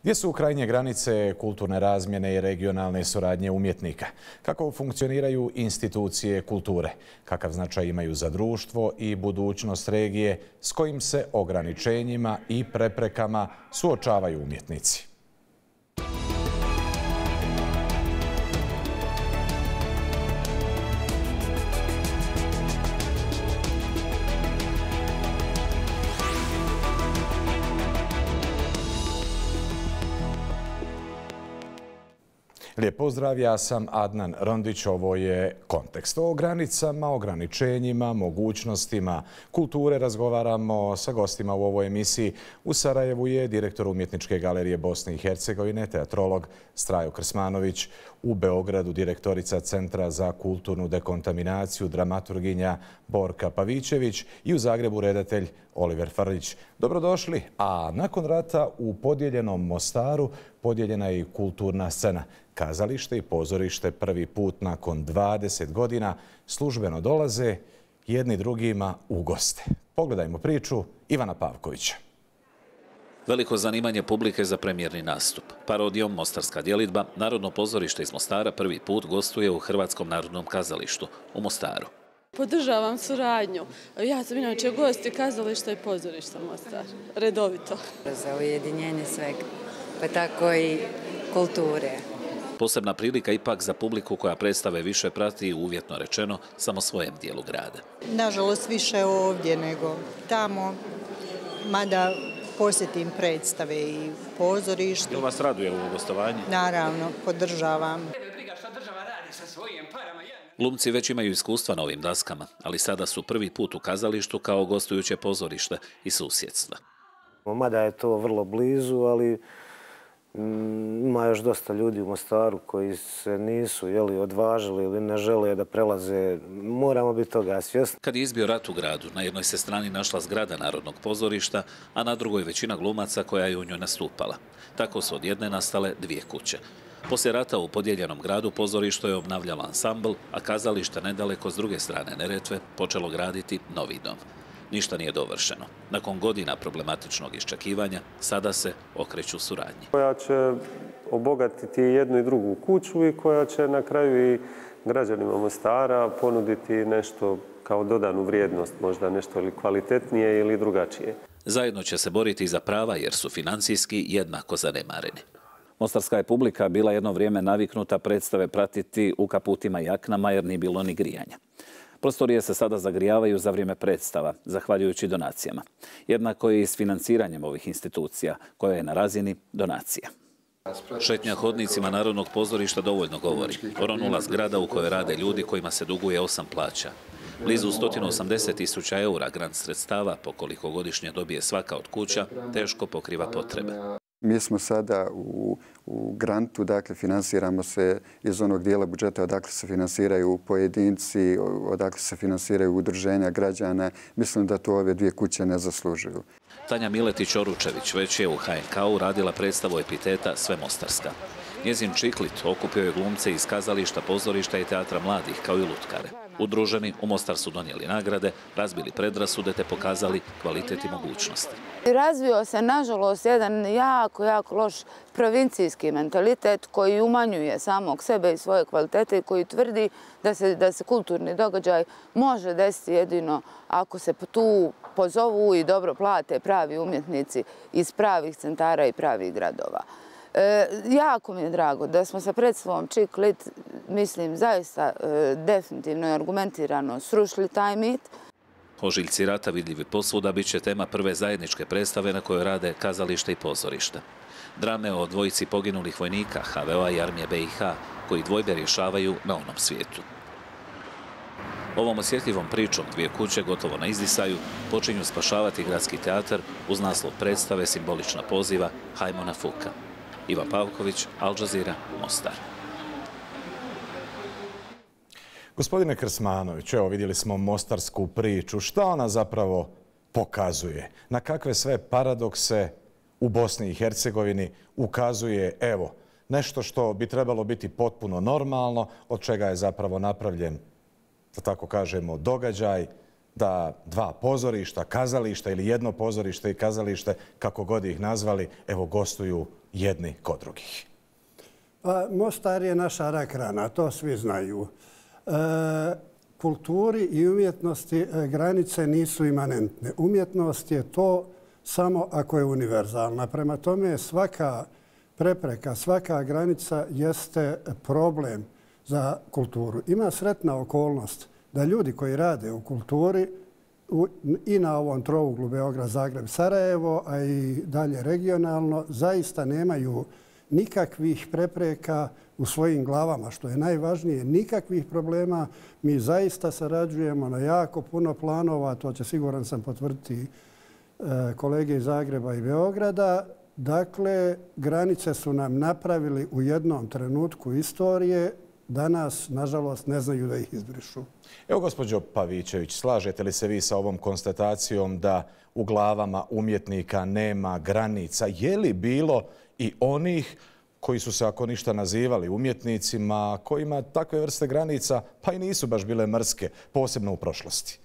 Gdje su krajnje granice kulturne razmjene i regionalne suradnje umjetnika? Kako funkcioniraju institucije kulture? Kakav značaj imaju za društvo i budućnost regije? S kojim se ograničenjima i preprekama suočavaju umjetnici? Lijep pozdrav, ja sam Adnan Rondić, ovo je Kontekst. O granicama, ograničenjima, mogućnostima kulture razgovaramo sa gostima u ovoj emisiji. U Sarajevu je direktor Umjetničke galerije Bosne i Hercegovine, teatrolog Strajo Krsmanović. U Beogradu direktorica Centra za kulturnu dekontaminaciju, dramaturginja Borka Pavićević i u Zagrebu redatelj Oliver Frljić. Dobrodošli, a nakon rata u podijeljenom Mostaru podijeljena je i kulturna scena. Kazalište i pozorište prvi put nakon 20 godina službeno dolaze jedni drugima u goste. Pogledajmo priču Ivana Pavkovića. Veliko zanimanje publike za premijerni nastup. Parodijom Mostarska djelidba, Narodno pozorište iz Mostara prvi put gostuje u Hrvatskom narodnom kazalištu u Mostaru. Podržavam suradnju. Ja sam inače gost kazališta i pozorišta Mostar. Redovito. Za ujedinjenje svega, pa tako i kulture. Posebna prilika ipak za publiku koja predstave više prati, uvjetno rečeno, samo svojem dijelu grada. Nažalost više ovdje nego tamo, mada posjetim predstave i pozorištu. Jel vas raduje ovo gostovanje? Naravno, podržavam. Glumci već imaju iskustva na ovim daskama, ali sada su prvi put u kazalištu kao gostujuće pozorište i susjedstva. Mada je to vrlo blizu, ali ima još dosta ljudi u Mostaru koji se nisu odvažili ili ne žele da prelaze. Moramo biti toga svjesni. Kad je izbio rat u gradu, na jednoj se strani našla zgrada Narodnog pozorišta, a na drugoj većina glumaca koja je u njoj nastupala. Tako su od jedne nastale dvije kuće. Poslije rata u podijeljenom gradu pozorište je obnavljalo ansambl, a kazalište nedaleko s druge strane Neretve počelo graditi novi dom. Ništa nije dovršeno. Nakon godina problematičnog iščekivanja, sada se okreću suradnji. Koja će obogatiti jednu i drugu kuću i koja će na kraju i građanima Mostara ponuditi nešto kao dodanu vrijednost, možda nešto ili kvalitetnije ili drugačije. Zajedno će se boriti za prava jer su financijski jednako zanemareni. Mostarska je publika bila jedno vrijeme naviknuta predstave pratiti u kaputima i jaknama jer nije bilo ni grijanja. Prostorije se sada zagrijavaju za vrijeme predstava, zahvaljujući donacijama. Jednako i s financiranjem ovih institucija, koja je na razini donacija. Šetnja hodnicima Narodnog pozorišta dovoljno govori. Oronula zgrada u kojoj rade ljudi kojima se duguje 8 plaća. Blizu 180.000 eura grant sredstava, po koliko godišnje dobije svaka od kuća, teško pokriva potrebe. Mi smo sada u grantu, dakle finansiramo se iz onog dijela budžeta odakle se finansiraju pojedinci, odakle se finansiraju udruženja građana. Mislim da to ove dvije kuće ne zaslužuju. Tanja Miletić-Oručević već je u HNK-u radila predstavu epiteta Sve Mostarska. Njezin čiklit okupio je glumce iz kazališta, pozorišta i teatra mladih, kao i lutkare. Udruženi u Mostar su donijeli nagrade, razbili predrasude te pokazali kvalitet i mogućnosti. Razvio se, nažalost, jedan jako loš provincijski mentalitet koji umanjuje samog sebe i svoje kvalitete i koji tvrdi da se kulturni događaj može desiti jedino ako se tu pozovu i dobro plate pravi umjetnici iz pravih centara i pravih gradova. Jako mi je drago da smo sa predstavom Čiklit, mislim, zaista definitivno i argumentirano srušili taj mit. Ožiljci rata vidljivi posvuda bit će tema prve zajedničke predstave na kojoj rade kazalište i pozorište. Drame o dvojici poginulih vojnika HVO-a i armije BiH koji dvojbe rješavaju na onom svijetu. Ovom osjetljivom pričom dvije kuće gotovo na izdisaju počinju spašavati gradski teatar uz naslov predstave simbolična poziva Hajmo na Fuka. Ivan Pavković, Al Jazeera, Mostar. Gospodine Krsmanović, evo vidjeli smo mostarsku priču. Šta ona zapravo pokazuje? Na kakve sve paradokse u Bosni i Hercegovini ukazuje, evo, nešto što bi trebalo biti potpuno normalno, od čega je zapravo napravljen, da tako kažemo, događaj, da dva pozorišta, kazališta ili jedno pozorište i kazalište, kako god ih nazvali, evo gostuju jedni kod drugih? Mostar je naša rak rana, to svi znaju. Kulturi i umjetnosti granice nisu imanentne. Umjetnost je to samo ako je univerzalna. Prema tome svaka prepreka, svaka granica jeste problem za kulturu. Ima sretna okolnost da ljudi koji rade u kulturi i na ovom trouglu Beograd, Zagreb, Sarajevo, a i dalje regionalno, zaista nemaju nikakvih prepreka u svojim glavama, što je najvažnije, nikakvih problema. Mi zaista sarađujemo na jako puno planova, to će siguran sam potvrditi kolege iz Zagreba i Beograda. Dakle, granice su nam napravili u jednom trenutku istorije, danas, nažalost, ne znaju da ih izbrišu. Evo, gospođo Pavićević, slažete li se vi sa ovom konstatacijom da u glavama umjetnika nema granica? Je li bilo i onih koji su se, ako ništa, nazivali umjetnicima, kojima takve vrste granica pa i nisu baš bile mrske, posebno u prošlosti?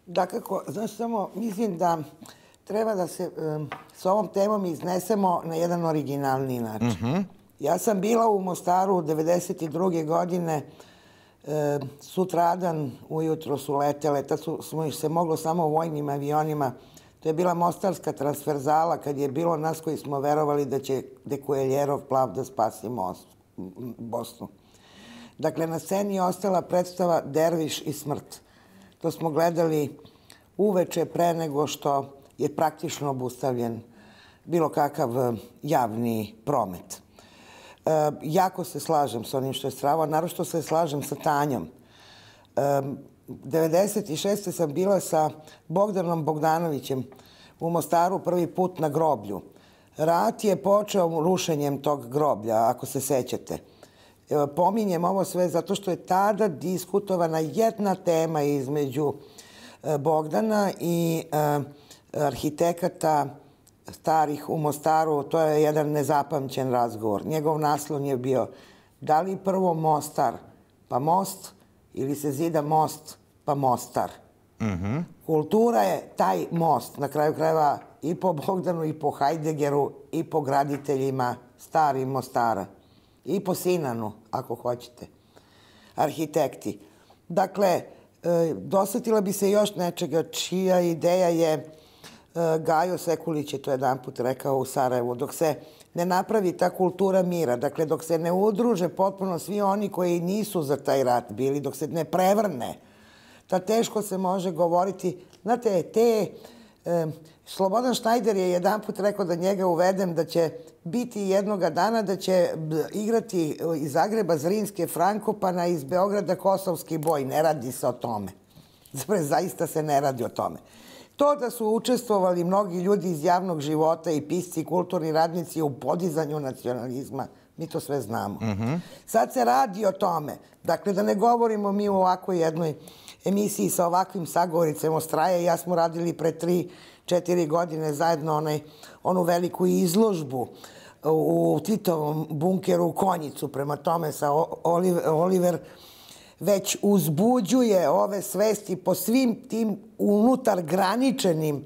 Dakako, znaš, samo mislim da treba da se s ovom temom iznesemo na jedan originalni način. Ja sam bila u Mostaru 1992. godine, sutradan ujutro su letele, tad smo se moglo samo vojnim avionima. To je bila mostarska transverzala kad je bilo nas koji smo verovali da će Dekueljerov plav da spasi Bosnu. Dakle, na sceni je ostala predstava Derviš i smrt. To smo gledali uveče pre nego što je praktično obustavljen bilo kakav javni promet. Jako se slažem s onim što je strava, naročito se slažem sa Tanjom. 1996. sam bila sa Bogdanom Bogdanovićem u Mostaru prvi put na groblju. Rat je počeo rušenjem tog groblja, ako se sećate. Pominjem ovo sve zato što je tada diskutovana jedna tema između Bogdana i arhitekata starih u Mostaru. To je jedan nezapamćen razgovor. Njegov naslov je bio da li prvo Mostar pa most ili se zida most pa Mostar. Kultura je taj most, na kraju krajeva i po Bogdanu i po Hajdegeru i po graditeljima starih Mostara. I po Sinanu, ako hoćete. Arhitekti. Dakle, dosetila bi se još nečega čija ideja je Gajo Sekulić je to jedan put rekao u Sarajevu. Dok se ne napravi ta kultura mira, dakle dok se ne udruže potpuno svi oni koji nisu za taj rat bili, dok se ne prevrne, ta teško se može govoriti. Znate, Slobodan Šnajder je jedan put rekao da njega uvedem da će biti jednoga dana da će igrati iz Zagreba Zrinske Frankopana, iz Beograda Kosovski boj. Ne radi se o tome. Zaista se ne radi o tome. To da su učestvovali mnogi ljudi iz javnog života i pisci i kulturni radnici u podizanju nacionalizma, mi to sve znamo. Sad se radi o tome. Dakle, da ne govorimo mi u ovakvoj jednoj emisiji sa ovakvim sagovoricama Straje. Ja smo radili pre 3-4 godine zajedno onu veliku izložbu u Titovom bunkeru u Konjicu. Prema tome sa Oliver već uzbuđuje ove svesti po svim tim unutar graničenim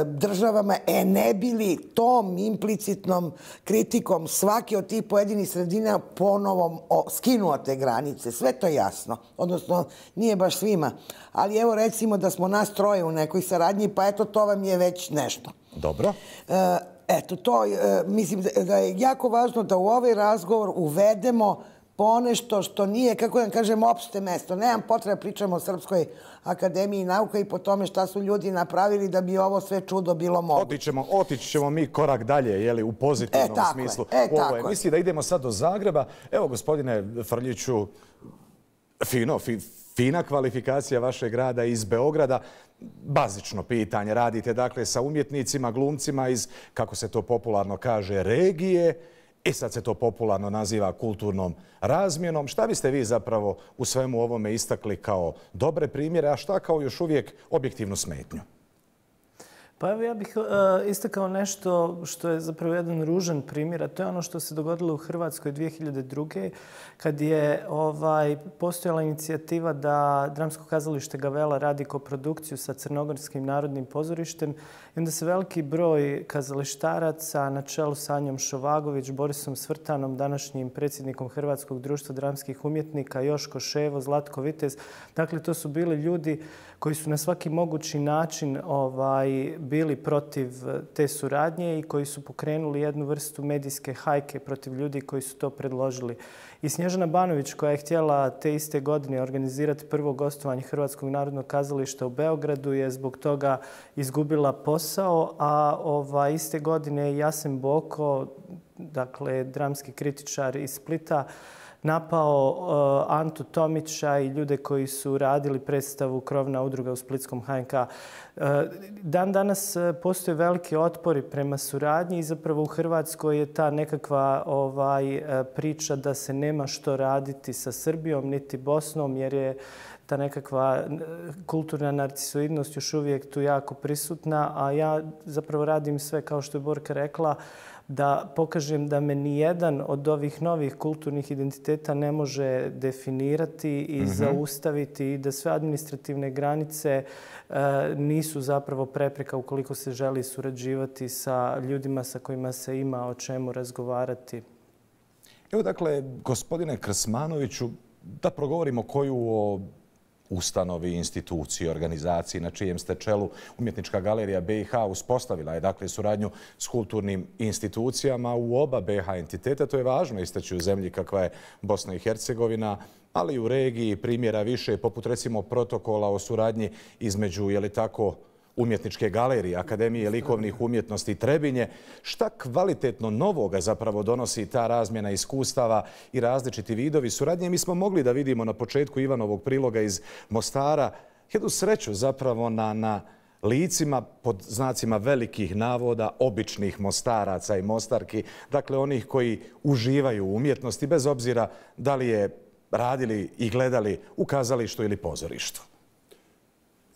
državama, ne bili tom implicitnom kritikom svake od tih pojedinih sredina ponovo skinuo te granice. Sve to jasno. Odnosno, nije baš svima. Ali evo recimo da smo nas troje u nekoj saradnji, pa eto to vam je već nešto. Dobro. Eto, to mislim da je jako važno da u ovaj razgovor uvedemo ponešto što nije, kako da kažem, opšte mesto. Nemam potreba pričamo o Srpskoj akademiji nauka i po tome šta su ljudi napravili da bi ovo sve čudo bilo moguće. Otići ćemo mi korak dalje, u pozitivnom smislu. U ovoj emisiji da idemo sad do Zagreba. Evo, gospodine Frljiću, fina kvalifikacija vašeg rada iz Beograda. Bazično pitanje. Radite dakle sa umjetnicima, glumcima iz, kako se to popularno kaže, regije. I sad se to popularno naziva kulturnom razmjenom. Šta biste vi zapravo u svemu ovome istakli kao dobre primjere, a šta kao još uvijek objektivnu smetnju? Pa evo ja bih istakao nešto što je zapravo jedan ružan primjer, a to je ono što se dogodilo u Hrvatskoj 2002. kad je postojala inicijativa da Dramsko kazalište Gavela radi koprodukciju sa Crnogorskim narodnim pozorištem i onda se veliki broj kazalištaraca na čelu sa Anjom Šovagović, Borisom Svrtanom, današnjim predsjednikom Hrvatskog društva dramskih umjetnika, Joško Ševo, Zlatko Vitez. Dakle, to su bili ljudi koji su na svaki mogući način bili protiv te suradnje i koji su pokrenuli jednu vrstu medijske hajke protiv ljudi koji su to predložili. I Snježana Banović, koja je htjela te iste godine organizirati prvo gostovanje Hrvatskog narodnog kazališta u Beogradu, je zbog toga izgubila posao, a iste godine je Jasen Boko, dakle dramski kritičar iz Splita, napao Antu Tomića i ljude koji su radili predstavu Krovna udruga u Splitskom HNK. Dan danas postoje veliki otpori prema suradnji i zapravo u Hrvatskoj je ta nekakva priča da se nema što raditi sa Srbijom niti Bosnom, jer je ta nekakva kulturna narcisoidnost još uvijek tu jako prisutna, a ja zapravo radim sve, kao što je Borka rekla, da pokažem da me nijedan od ovih novih kulturnih identiteta ne može definirati i zaustaviti i da sve administrativne granice nisu zapravo prepreka ukoliko se želi surađivati sa ljudima sa kojima se ima o čemu razgovarati. Evo dakle, gospodine Krsmanoviću, da progovorimo koju o ustanovi, instituciji, organizaciji na čijem ste čelu. Umjetnička galerija BiH uspostavila je dakle suradnju s kulturnim institucijama u oba BiH entiteta. To je važno istaći u zemlji kakva je Bosna i Hercegovina, ali i u regiji primjera više, poput recimo protokola o suradnji između, je li tako, Umjetničke galerije, Akademije likovnih umjetnosti Trebinje. Šta kvalitetno novoga zapravo donosi ta razmjena iskustava i različiti vidovi suradnje? Mi smo mogli da vidimo na početku Ivanovog priloga iz Mostara jednu sreću zapravo na licima, pod znacima velikih navoda, običnih Mostaraca i Mostarki, dakle onih koji uživaju u umjetnosti, bez obzira da li je radili i gledali u kazalištu ili pozorištu.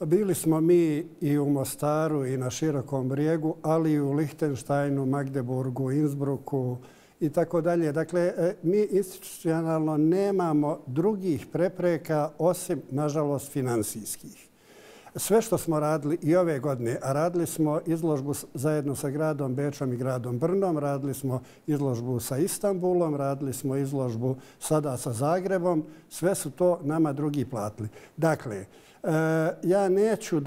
Bili smo mi i u Mostaru i na Širokom brijegu, ali i u Lihtenštajnu, Magdeburgu, Innsbrucku i tako dalje. Dakle, mi institucionalno nemamo drugih prepreka osim, nažalost, finansijskih. Sve što smo radili i ove godine, a radili smo izložbu zajedno sa gradom Bečom i gradom Brnom, radili smo izložbu sa Istanbulom, radili smo izložbu sada sa Zagrebom, sve su to nama drugi platili. Dakle, ja neću,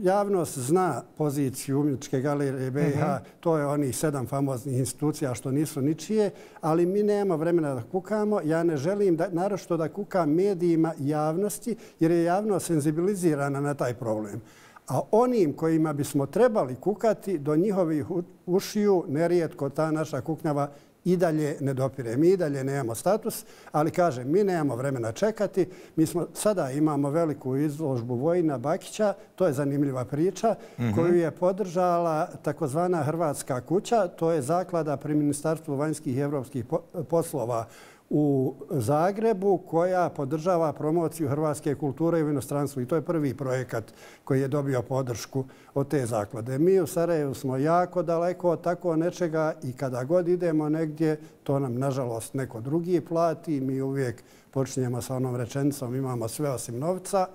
javnost zna poziciju Umjetničke galerije BiH, to je onih 7 famoznih institucija što nisu ničije, ali mi nemamo vremena da kukamo. Ja ne želim naročito da kukam medijima javnosti, jer je javnost senzibilizirana na taj problem. A onim kojima bismo trebali kukati, do njihovih ušiju nerijetko ta naša kuknjava i dalje ne dopire. Mi i dalje nemamo status, ali kažem, mi nemamo vremena čekati. Mi sada imamo veliku izložbu Vojina Bakića, to je zanimljiva priča, koju je podržala takozvana Hrvatska kuća, to je zaklada pri Ministarstvu vanjskih i evropskih poslova u Zagrebu, koja podržava promociju hrvatske kulture u inostranstvu. I to je prvi projekat koji je dobio podršku od te zaklade. Mi u Sarajevu smo jako daleko od tako nečega i kada god idemo negdje, to nam nažalost neko drugi plati. Mi uvijek počinjemo sa onom rečenicom, imamo sve osim novca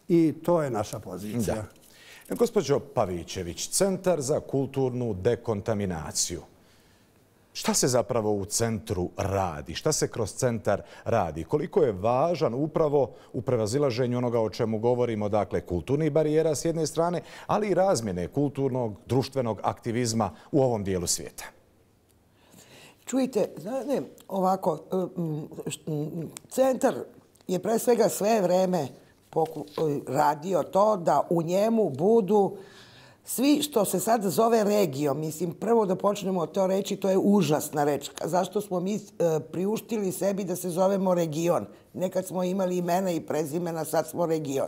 i to je naša pozicija. Gospođo Pavićević, Centar za kulturnu dekontaminaciju. Šta se zapravo u centru radi? Šta se kroz centar radi? Koliko je važan upravo u prevazilaženju onoga o čemu govorimo, dakle, kulturnih barijera s jedne strane, ali i razmjene kulturnog, društvenog aktivizma u ovom dijelu svijeta? Čujte, ovako, centar je pre svega sve vreme radio to da u njemu budu svi što se sad zove regijom. Mislim, prvo da počnemo to reći, to je užasna reč. Zašto smo mi priuštili sebi da se zovemo region? Nekad smo imali imena i prezimena, sad smo region.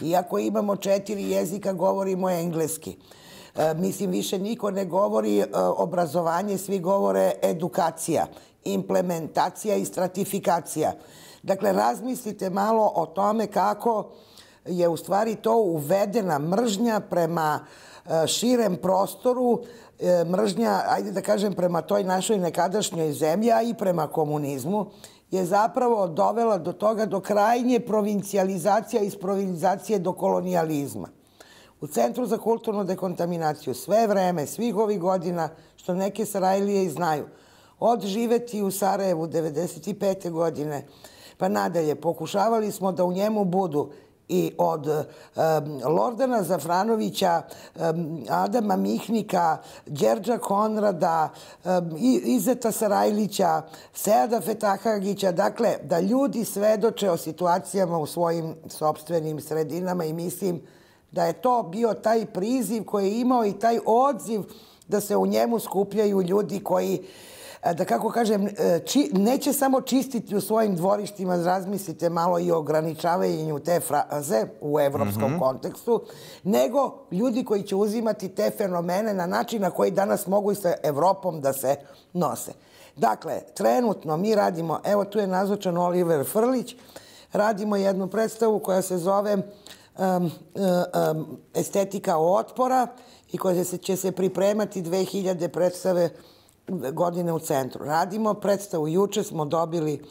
Iako imamo 4 jezika, govorimo engleski. Mislim, više niko ne govori obrazovanje, svi govore edukacija, implementacija i stratifikacija. Dakle, razmislite malo o tome kako je u stvari to uvedena mržnja prema širem prostoru, mržnja, ajde da kažem, prema toj našoj nekadašnjoj zemlji, a i prema komunizmu, je zapravo dovela do toga, do krajnje provincijalizacija, iz provincijalizacije do kolonijalizma. U Centru za kulturnu dekontaminaciju sve vreme, svih ovih godina, što neke Sarajlije i znaju, od živeti u Sarajevu 1995. godine, pa nadalje, pokušavali smo da u njemu budu i od Lordana Zafranovića, Adama Mihnika, Đerđa Konrada, Izeta Sarajlića, Seada Fetahagića, dakle, da ljudi svedoče o situacijama u svojim sopstvenim sredinama i mislim da je to bio taj priziv koji je imao i taj odziv da se u njemu skupljaju ljudi koji, da kako kažem, neće samo čistiti u svojim dvorištima, razmislite malo i o ograničavanju te fraze u evropskom kontekstu, nego ljudi koji će uzimati te fenomene na način na koji danas mogu i sa Evropom da se nose. Dakle, trenutno mi radimo, evo tu je nazočan Oliver Frlić, radimo jednu predstavu koja se zove Estetika otpora i koja će se pripremati 2000 predstave godine u centru. Radimo predstavu, juče smo dobili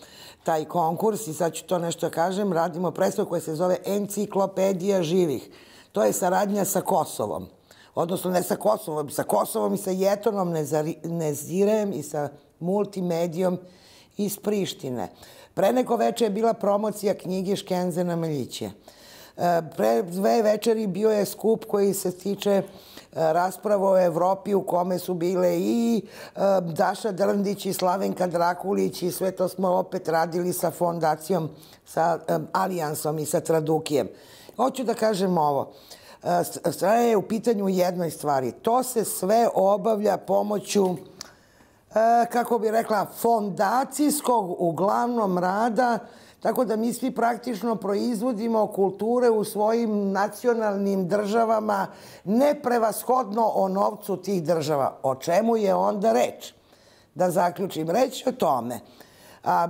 taj konkurs i sad ću to nešto kažem, radimo predstavu koja se zove Enciklopedija živih. To je saradnja sa Kosovom. Odnosno ne sa Kosovom i sa Jetonom Nezirejem i sa multimedijom iz Prištine. Pre neko veče je bila promocija knjige Škenzena Meljića. Pre 2 večeri bio je skup koji se tiče rasprava o Evropi u kome su bile i Daša Drndić i Slavenka Drakulić i sve to smo opet radili sa fondacijom, sa Alijansom i sa Tradukijem. Hoću da kažem ovo. Sve je u pitanju jednoj stvari. To se sve obavlja pomoću, kako bi rekla, fondacijskog uglavnom rada, tako da mi svi praktično proizvodimo kulture u svojim nacionalnim državama, neprevashodno o novcu tih država. O čemu je onda reč? Da zaključim, reč o tome.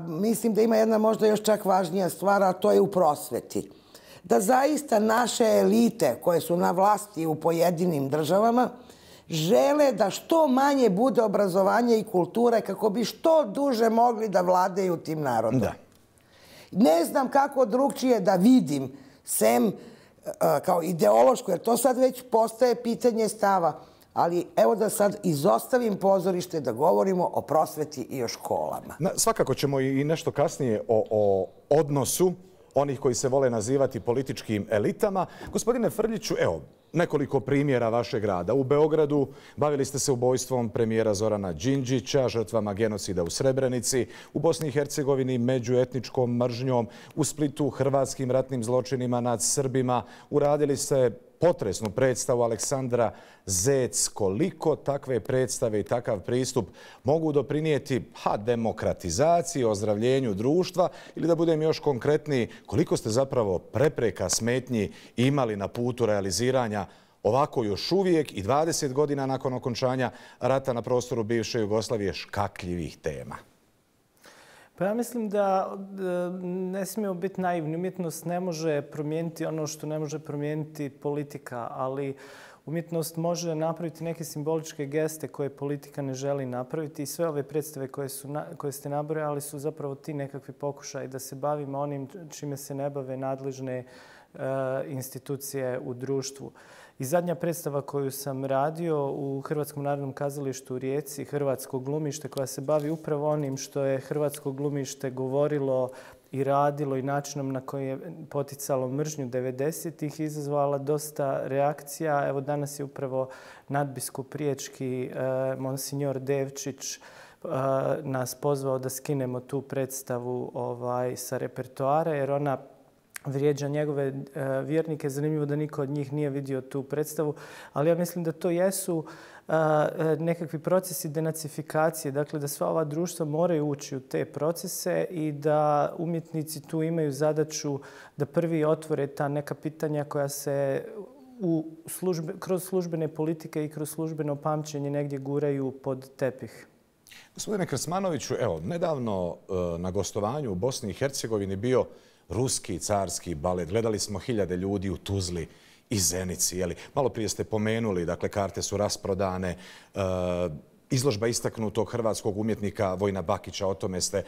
Mislim da ima jedna možda još čak važnija stvar, a to je u prosveti. Da zaista naše elite koje su na vlasti u pojedinim državama žele da što manje bude obrazovanja i kulture kako bi što duže mogli da vladaju tim narodom. Da. Ne znam kako drugčije da vidim, sem kao ideološko, jer to sad već postaje pitanje stava. Ali evo da sad izostavim pozorište da govorimo o prosveti i o školama. Svakako ćemo i nešto kasnije o odnosu onih koji se vole nazivati političkim elitama. Gospodine Frljiću, evo, nekoliko primjera vašeg rada. U Beogradu bavili ste se ubojstvom premijera Zorana Đinđića, žrtvama genocida u Srebrenici, u Bosni i Hercegovini međuetničkom mržnjom, u Splitu hrvatskim ratnim zločinima nad Srbima. Uradili ste potresnu predstavu Aleksandra Zec. Koliko takve predstave i takav pristup mogu doprinijeti demokratizaciji, ozdravljenju društva ili da budem još konkretniji, koliko ste zapravo prepreka, smetnji imali na putu realiziranja ovako još uvijek i 20 godina nakon okončanja rata na prostoru bivše Jugoslavije škakljivih tema? Pa ja mislim da ne smijemo biti naivni. Umjetnost ne može promijeniti ono što ne može promijeniti politika, ali umjetnost može napraviti neke simboličke geste koje politika ne želi napraviti i sve ove predstave koje ste nabrojali su zapravo ti nekakvi pokušaj da se bavimo onim čime se ne bave nadležne institucije u društvu. I zadnja predstava koju sam radio u Hrvatskom narodnom kazalištu u Rijeci, Hrvatsko glumište, koja se bavi upravo onim što je Hrvatsko glumište govorilo i radilo i načinom na koji je poticalo mržnju 90-ih, izazvala dosta reakcija. Evo danas je upravo nadbiskup riječki Monsignor Devčić nas pozvao da skinemo tu predstavu sa repertoara, jer ona vrijeđa njegove vjernike. Zanimljivo da niko od njih nije vidio tu predstavu, ali ja mislim da to jesu nekakvi procesi denacifikacije, dakle da sva ova društva moraju ući u te procese i da umjetnici tu imaju zadaću da prvi otvore ta neka pitanja koja se kroz službene politike i kroz službeno pamćenje negdje guraju pod tepih. Gospodine Krsmanoviću, evo, nedavno na gostovanju u Bosni i Hercegovini bio ruski carski balet. Gledali smo 1000 ljudi u Tuzli i Zenici. Malo prije ste pomenuli, dakle, karte su rasprodane, izložba istaknutog hrvatskog umjetnika Vojina Bakića, o tome ste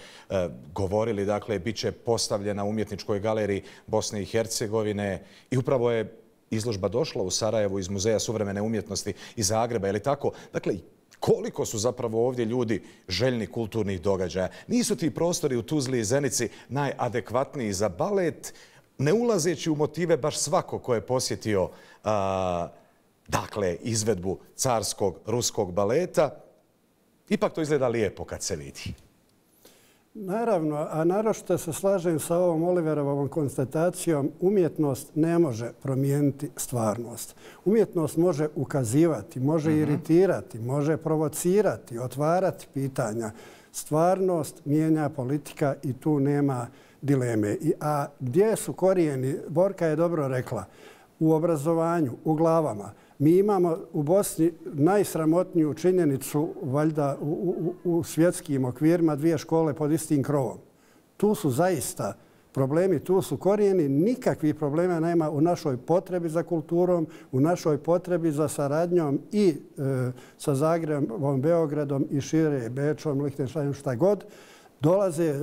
govorili, dakle, bit će postavljena u Umjetničkoj galeriji Bosne i Hercegovine i upravo je izložba došla u Sarajevu iz Muzeja suvremene umjetnosti iz Zagreba, je li tako? Dakle, koliko su zapravo ovdje ljudi željni kulturnih događaja? Nisu ti prostori u Tuzli i Zenici najadekvatniji za balet, ne ulazeći u motive baš svako ko je posjetio dakle, izvedbu carskog ruskog baleta. Ipak to izgleda lijepo kad se vidi. Naravno, a naročito se slažem sa ovom Oliverovom konstatacijom, umjetnost ne može promijeniti stvarnost. Umjetnost može ukazivati, može iritirati, može provocirati, otvarati pitanja. Stvarnost mijenja politika i tu nema dileme. A gdje su korijeni? Borka je dobro rekla. U obrazovanju, u glavama. Mi imamo u Bosni najsramotniju činjenicu, valjda u svjetskim okvirima, 2 škole pod istim krovom. Tu su zaista problemi, tu su korijeni. Nikakvih problema nema u našoj potrebi za kulturom, u našoj potrebi za saradnjom i sa Zagrebom, Beogradom i šire, Bečom, Lihtenštajnom, šta god. Dolaze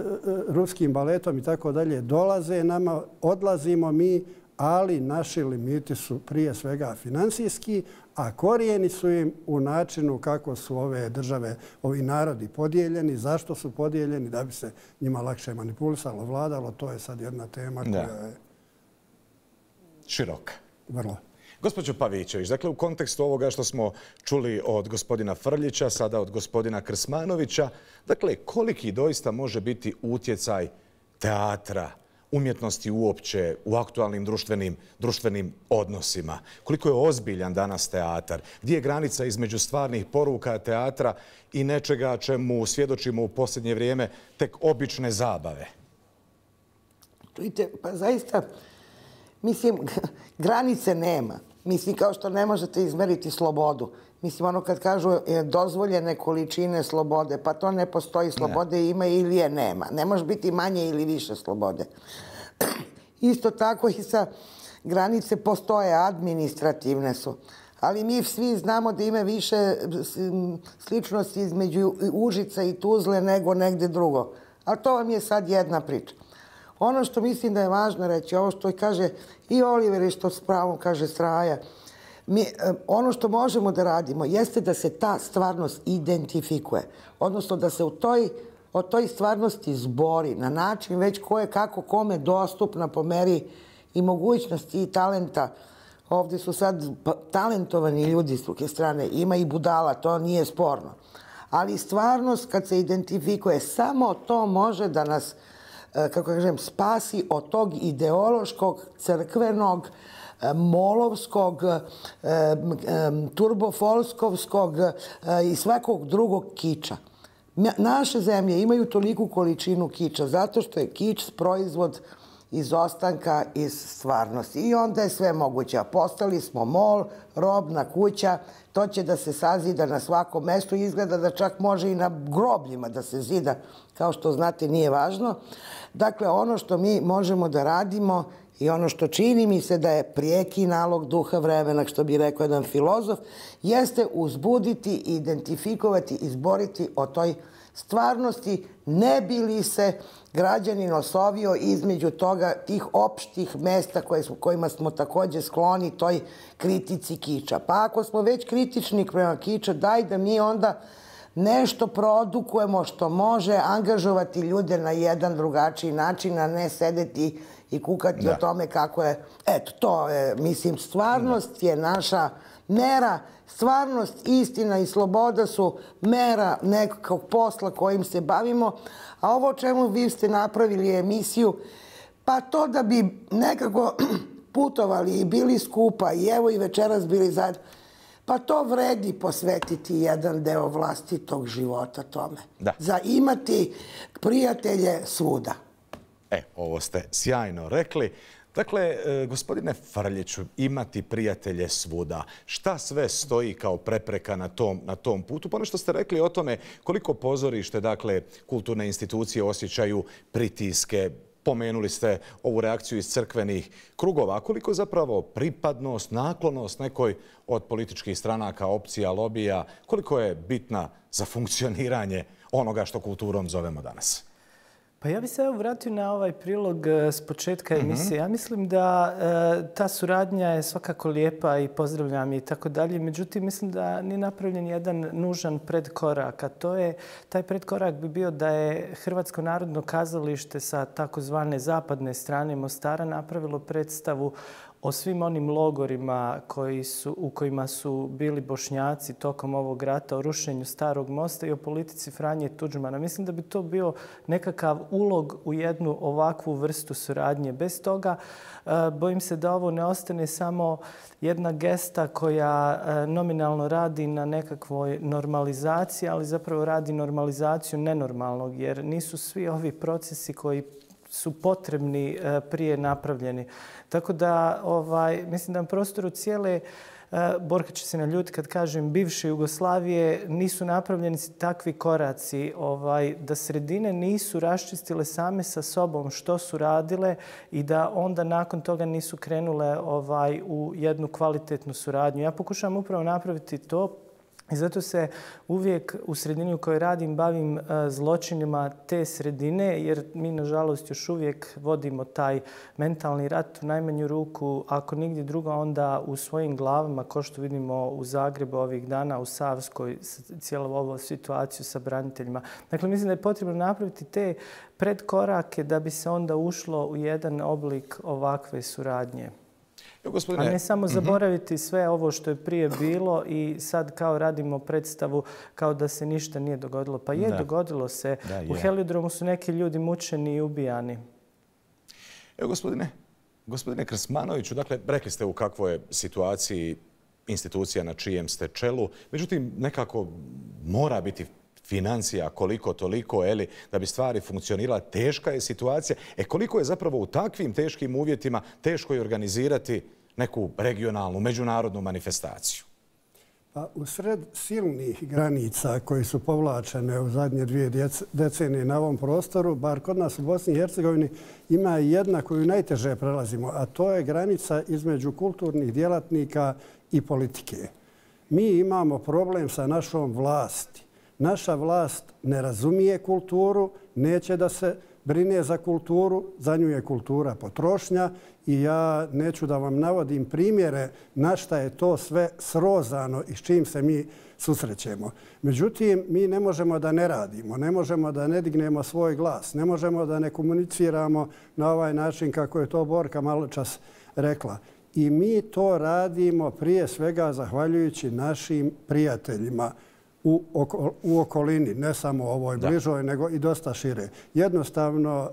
ruskim baletom i tako dalje. Dolaze nama, odlazimo mi, ali naši limiti su prije svega financijski, a korijeni su im u načinu kako su ove države, ovi narodi podijeljeni, zašto su podijeljeni, da bi se njima lakše manipulisalo, vladalo. To je sad jedna tema koja je široka. Vrlo. Gospođo Pavićević, dakle u kontekstu ovoga što smo čuli od gospodina Frljića, sada od gospodina Krsmanovića, dakle koliki doista može biti utjecaj teatra, umjetnosti uopće u aktualnim društvenim odnosima? Koliko je ozbiljan danas teatar? Gdje je granica između stvarnih poruka teatra i nečega čemu svjedočimo u posljednje vrijeme tek obične zabave? Čujte, pa zaista, mislim, granice nema. Mislim, kao što ne možete izmeriti slobodu. Mislim, ono kad kažu dozvoljene količine slobode, pa to ne postoji. Slobode ima ili je nema. Ne može biti manje ili više slobode. Isto tako i sa granice postoje, administrativne su. Ali mi svi znamo da ima više sličnosti između Užica i Tuzle nego negdje drugo. Ali to vam je sad jedna priča. Ono što mislim da je važno reći, ovo što kaže i Oliver i što s pravom kaže Straja, ono što možemo da radimo jeste da se ta stvarnost identifikuje. Odnosno da se o toj stvarnosti zbori na način već ko je kako kome dostupna po meri i mogućnosti i talenta. Ovdje su sad talentovani ljudi s druge strane. Ima i budala, to nije sporno. Ali stvarnost kad se identifikuje, samo to može da nas, kako kažem, spasi od tog ideološkog, crkvenog, molovskog, turbofolskovskog i svakog drugog kiča. Naše zemlje imaju toliku količinu kiča zato što je kič proizvod izostanka iz stvarnosti. I onda je sve moguće. Postali smo mol, robna kuća, to će da se sazida na svakom mjestu. Izgleda da čak može i na grobljima da se zida, kao što znate nije važno. Dakle, ono što mi možemo da radimo i ono što čini mi se da je prijeki nalog duha vremena, što bi rekao jedan filozof, jeste uzbuditi, identifikovati, izboriti o toj stvarnosti, ne bi li se građanin osovio između toga, tih opštih mesta kojima smo također skloni toj kritici kiča. Pa ako smo već kritični prema kiča, daj da mi onda nešto produkujemo što može angažovati ljude na jedan drugačiji način, a ne sedeti i kukati o tome kako je. Eto, to je, mislim, stvarnost je naša mera. Stvarnost, istina i sloboda su mera nekog posla kojim se bavimo. A ovo o čemu vi ste napravili emisiju, pa to da bi nekako putovali i bili skupa i evo i večeras bili zajedno, pa to vredi posvetiti jedan deo vlastitog života tome. Za imati prijatelje svuda. Ovo ste sjajno rekli. Dakle, gospodine Frljiću, imati prijatelje svuda. Šta sve stoji kao prepreka na tom putu? Pa ono što ste rekli o tome koliko pozorište, dakle, kulturne institucije osjećaju pritiske, Pomenuli ste ovu reakciju iz crkvenih krugova. Koliko zapravo pripadnost, naklonost nekoj od političkih stranaka, opcija, lobija, koliko je bitna za funkcioniranje onoga što kulturom zovemo danas? Pa ja bih se vratio na ovaj prilog s početka emisije. Ja mislim da ta suradnja je svakako lijepa i pozdravljam je i tako dalje. Međutim, mislim da nije napravljen jedan nužan predkorak. A taj predkorak bi bio da je Hrvatsko narodno kazalište sa takozvane zapadne strane Mostara napravilo predstavu o svim onim logorima u kojima su bili Bošnjaci tokom ovog rata, o rušenju Starog mosta i o politici Franje Tuđmana. Mislim da bi to bio nekakav ulog u jednu ovakvu vrstu suradnje. Bez toga bojim se da ovo ne ostane samo jedna gesta koja nominalno radi na nekakvoj normalizaciji, ali zapravo radi normalizaciju nenormalnog, jer nisu svi ovi procesi koji su potrebni prije napravljeni. Tako da mislim da na prostoru cijele, Borka će se naljutiti kad kažem, bivše Jugoslavije nisu napravljeni takvi koraci, da sredine nisu raščistile same sa sobom što su radile i da onda nakon toga nisu krenule u jednu kvalitetnu suradnju. Ja pokušavam upravo napraviti to. I zato se uvijek u sredini u kojoj radim bavim zločinima te sredine, jer mi, nažalost, još uvijek vodimo taj mentalni rat u najmanju ruku, ako nigdje drugo, onda u svojim glavama, kao što vidimo u Zagrebu ovih dana, u Savskoj, cijelu ovu situaciju sa braniteljima. Dakle, mislim da je potrebno napraviti te predkorake da bi se onda ušlo u jedan oblik ovakve suradnje. A ne samo zaboraviti sve ovo što je prije bilo i sad kao radimo predstavu kao da se ništa nije dogodilo. Pa je, dogodilo se. U Heliodromu su neki ljudi mučeni i ubijani. Evo, gospodine Krsmanoviću, dakle, rekli ste u kakvoj je situaciji institucija na čijem ste čelu. Međutim, nekako mora biti financija koliko toliko, da bi stvari funkcionirala. Teška je situacija. Koliko je zapravo u takvim teškim uvjetima teško je organizirati neku regionalnu, međunarodnu manifestaciju? Pa u sred silnih granica koji su povlačene u zadnje 2 decenije na ovom prostoru, bar kod nas u Bosni i Hercegovini, ima jedna koju najteže prelazimo, a to je granica između kulturnih djelatnika i politike. Mi imamo problem sa našom vlasti. Naša vlast ne razumije kulturu, neće da se brine za kulturu, za nju je kultura potrošnja i ja neću da vam navodim primjere na šta je to sve srozano i s čim se mi susrećemo. Međutim, mi ne možemo da ne radimo, ne možemo da ne dignemo svoj glas, ne možemo da ne komuniciramo na ovaj način kako je to Borka maločas rekla. I mi to radimo prije svega zahvaljujući našim prijateljima u okolini, ne samo ovoj bližoj, nego i dosta šire. Jednostavno,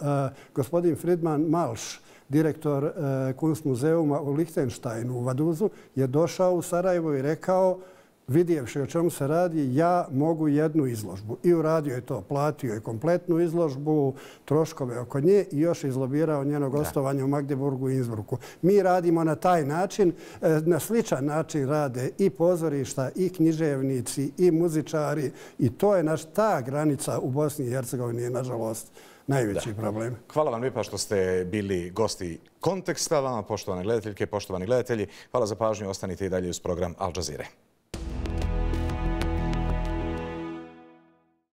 gospodin Friedman Malš, direktor Kunstmuzeuma u Lichtensteinu u Vaduzu, je došao u Sarajevo i rekao, vidjevši o čemu se radi, ja mogu jednu izložbu. I uradio je to, platio je kompletnu izložbu, troškove oko nje i još izlobirao njeno gostovanje u Magdeburgu i Innsbrucku. Mi radimo na taj način, na sličan način rade i pozorišta, i književnici, i muzičari i to je ta granica u Bosni i Hercegovini je, nažalost, najveći problem. Hvala vam lijepa što ste bili gosti Konteksta. Vama, poštovane gledateljke, poštovani gledatelji, hvala za pažnju. Ostanite i dalje uz program Al Jazeere.